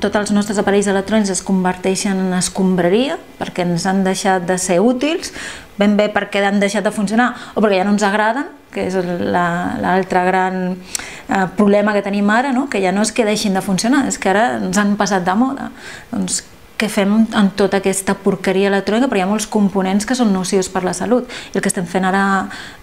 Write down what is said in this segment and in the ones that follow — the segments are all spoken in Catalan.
tots els nostres aparells electrònics es converteixen en escombraria perquè ens han deixat de ser útils, ben bé perquè han deixat de funcionar o perquè ja no ens agraden, que és l'altre gran problema que tenim ara, que ja no és que deixin de funcionar, és que ara ens han passat de moda. Doncs què fem amb tota aquesta porqueria electrònica? Però hi ha molts components que són nocius per la salut i el que estem fent ara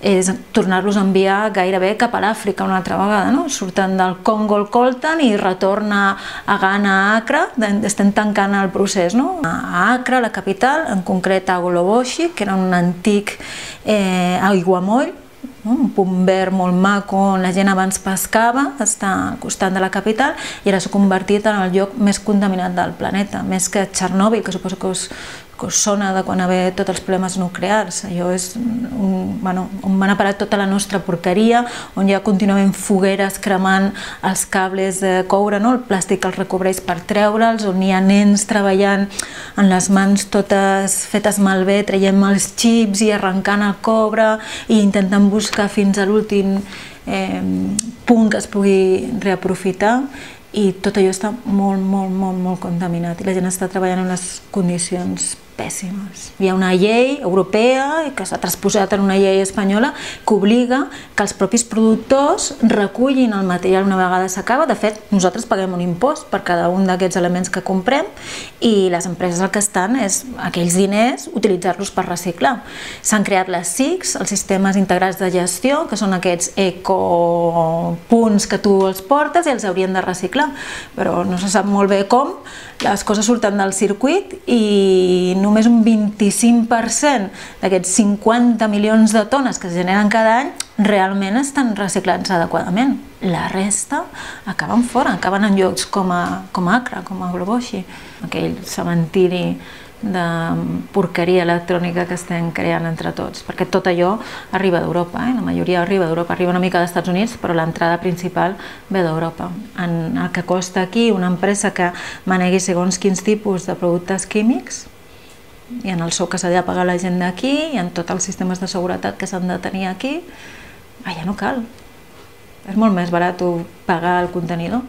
és tornar-los a enviar gairebé cap a l'Àfrica una altra vegada. Surten del Congo el coltan i retorna a Ghana, a Accra, estem tancant el procés. A Accra, la capital, en concret a Agoloboshi, que era un antic aiguamoll, un punt verd molt maco on la gent abans pescava, està al costat de la capital i ara s'ha convertit en el lloc més contaminat del planeta, més que Txernòbil, que suposo que us sona de quan hi va haver tots els problemes nuclears. Allò és on van a parar tota la nostra porqueria, on hi ha contínuament fogueres cremant els cables de coure, el plàstic que els recobreix per treure'ls, on hi ha nens treballant amb les mans totes fetes malbé, traient els xips i arrencant el cobre i intentant buscar fins a l'últim punt que es pugui reaprofitar. I tot allò està molt contaminat i la gent està treballant en unes condicions pèssimes. Hi ha una llei europea que s'ha transposat en una llei espanyola que obliga que els propis productors recullin el material una vegada s'acaba. De fet, nosaltres paguem un impost per cada un d'aquests elements que comprem i les empreses el que estan és aquells diners utilitzar-los per reciclar. S'han creat les SICs, els sistemes integrats de gestió, que són aquests ecopunts que tu els portes i els haurien de reciclar, però no se sap molt bé com. Les coses surten del circuit i només un 25% d'aquests 50 milions de tones que es generen cada any realment estan reciclats adequadament. La resta acaben fora, acaben en llocs com Accra, com Agoloboshi, aquell cementiri de porqueria electrònica que estem creant entre tots, perquè tot allò arriba d'Europa, la majoria arriba d'Europa, arriba una mica dels Estats Units, però l'entrada principal ve d'Europa. El que costa aquí una empresa que manegui segons quins tipus de productes químics i en el sou que s'ha de pagar la gent d'aquí i en tots els sistemes de seguretat que s'han de tenir aquí, allà no cal. És molt més barat pagar el contenidor.